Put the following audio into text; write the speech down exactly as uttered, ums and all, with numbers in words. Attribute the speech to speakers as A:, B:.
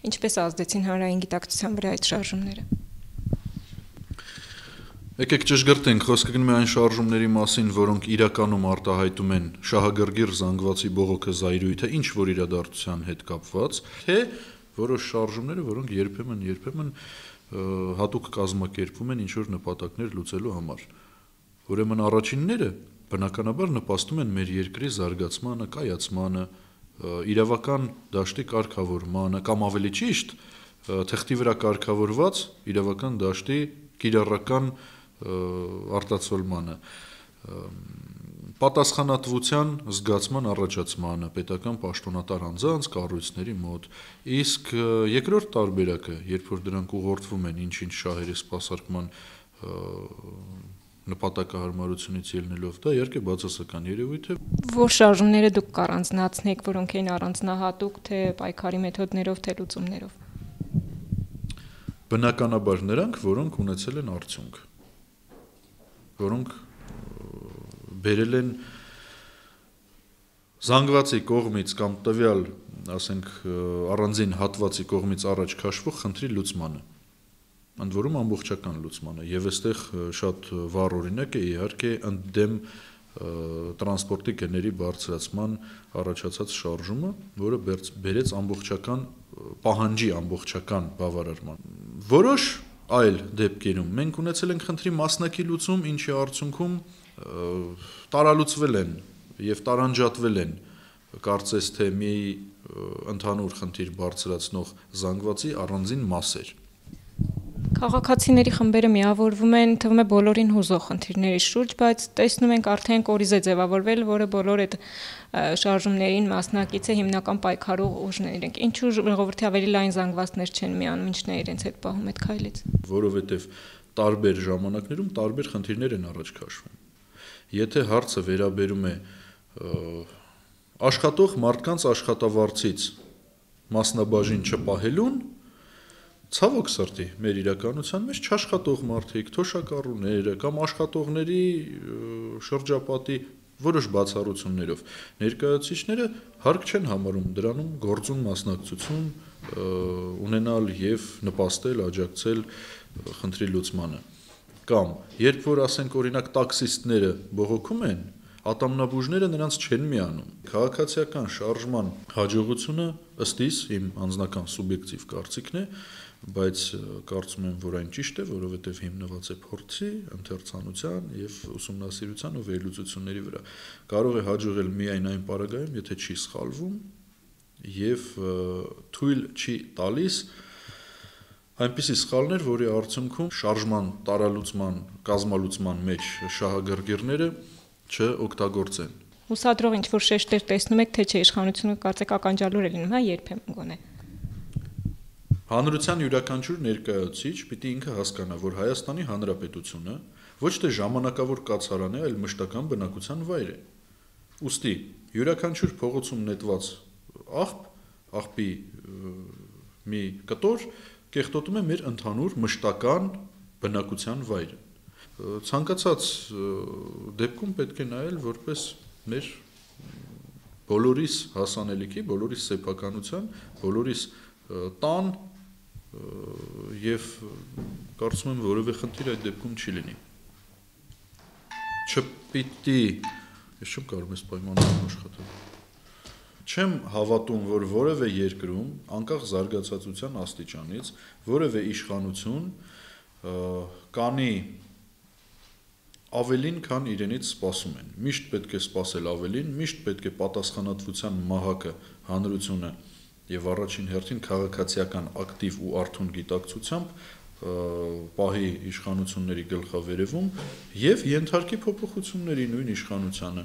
A: ինչպես ազդեցին հանրային գիտակցության վրա այդ շարժումները։
B: Եկեք ճշգրտենք, խոսքը գնում է այն շարժումների մասին, որոնք իրականում արտահայտում են շահագրգիռ զանգվածի բողոքը զայրույթը ինչ որ իրադարձության հետ կապված, թե որոշ շարժումները, որոնք երբեմն երբեմն հատուկ կազմակերպվում են ինչ որ նպատակներ լուծելու համար։ Ուրեմն առաջինները բնականաբար նպաստում են մեր երկրի զարգացմանը, կայացմանը, իրավական դաշտի կարգավորմանը, կամ ավելի ճիշտ, թղթի վրա կարգավորված իրավական դաշտի կիրառական արտացոլմանը, պատասխանատվության զգացման առաջացմանը պետական պաշտոնատար անձանց, կառույցների մոտ, իսկ երկրորդ տարբերակը, երբ որ դրանք ուղղորդվում են ինչ-ինչ շահերի սպասարկման նպատակահարմարությունից ելնելով, դա իհարկե բացասական երևույթ է։
A: Որ շարժումները դուք կառանձնացնեք, որոնք էին առանձնահատուկ, թե պայքարի մեթոդներով, թե լուծումներով։
B: Բնականաբար նրանք, որոնք ունեցել են արդյունք, որոնք բերել են զանգվածի կողմից կամ տվյալ, ասենք, առանձին հատվածի կողմից առաջ քաշվող խնդրի լուծմանը, ընդ որում ամբողջական լուծմանը, եւ այստեղ շատ վառ օրինակ է իհարկե ընդդեմ տրանսպորտի գների բարձրացման առաջացած շարժումը, որը բերեց ամբողջական պահանջի ամբողջական բավարարման։ Որոշ այլ դեպքերում մենք ունեցել ենք խնդրի մասնակի լուծում, ինչի արդյունքում տարալուծվել են եւ տարանջատվել են կարծես թե մի ընդհանուր խնդիր բարձրացնող զանգվածի առանձին մասեր։
A: Քաղաքացիների խմբերը միավորվում են, թվում է բոլորին հուզող խնդիրների շուրջ, բայց տեսնում ենք արդեն կորիզ է ձևավորվել, որը բոլոր այդ շարժումներին մասնակից է, հիմնական պայքարող ուժներ են։ Ինչու ժողովրդի ավելի լայն զանգվածներ չեն միանում, ինչն է իրենց հետ պահում այդ քայլից։
B: Որովհետև տարբեր ժամանակներում տարբեր խնդիրներ են առաջ քաշվում։ Եթե հարցը վերաբերում է աշխատող մարդկանց աշխատավարձից մասնաբաժին չպահելուն, ցավոք սրտի, մեր իրականության մեջ չաշխատող մարդիկ, թոշակառուները կամ աշխատողների շրջապատի որոշ բացառություններով ներկայացուցիչները հարկ չեն համարում դրանում գործուն մասնակցություն ունենալ եւ նպաստել, աջակցել խնդրի լուծմանը։ Կամ երբ որ ասենք օրինակ տաքսիստները բողոքում են, ատամնաբուժները նրանց չեն միանում։ Քաղաքացիական շարժման հաջողությունը ըստ իս իմ անձնական սուբյեկտիվ կարծիքն է, բայց կարծում եմ, որ այն ճիշտ է, որովհետև հիմնված է փորձի, ընթերցանության եւ ուսումնասիրության ու վերլուծությունների վրա։ Կարող է հաջողել միայն այն պարագայում, եթե չի սխալվում եւ թույլ չի տալիս այնպիսի սխալներ, որի արդյունքում շարժման, տարալուծման, կազմալուծման մեջ շահագրգիռները չօգտագործեն։
A: Հուսադրող ինչ-որ շեշտեր տեսնում եք, թե չէ իշխանությունը կարծեք ականջալուր է լինում, հա, երբեմն գոնե։
B: Հանրության յուրաքանչյուր ներկայացուցիչ պիտի ինքը հասկանա, որ Հայաստանի Հանրապետությունը ոչ թե ժամանակավոր կացարան է, այլ մշտական բնակության վայր է։ Ուստի յուրաքանչյուր փողոցում նետված աղբ, աղբի մի կտոր կեղտոտում է մեր ընդհանուր մշտական բնակության վայրը։ Ցանկացած դեպքում պետք է նայել որպես մեր բոլորիս հասանելիքի, բոլորիս սեփականության, բոլորիս տան եւ կարծում եմ որևէ խնդիր այդ դեպքում չի լինի։ Չպիտի, ես չեմ կարող ես պայմաններում աշխատել։ Չեմ հավատում, որ որևէ երկրում, անկախ զարգացածության աստիճանից, որևէ իշխանություն կանի ավելին, քան իրենից սպասում են։ Միշտ պետք է սպասել ավելին, միշտ պետք է պատասխանատվության մահակը հանրությունը եւ առաջին հերթին քաղաքացիական ակտիվ ու արթուն գիտակցությամբ պահի իշխանությունների գլխավերևում եւ ենթարկի փոփոխությունների նույն իշխանությանը։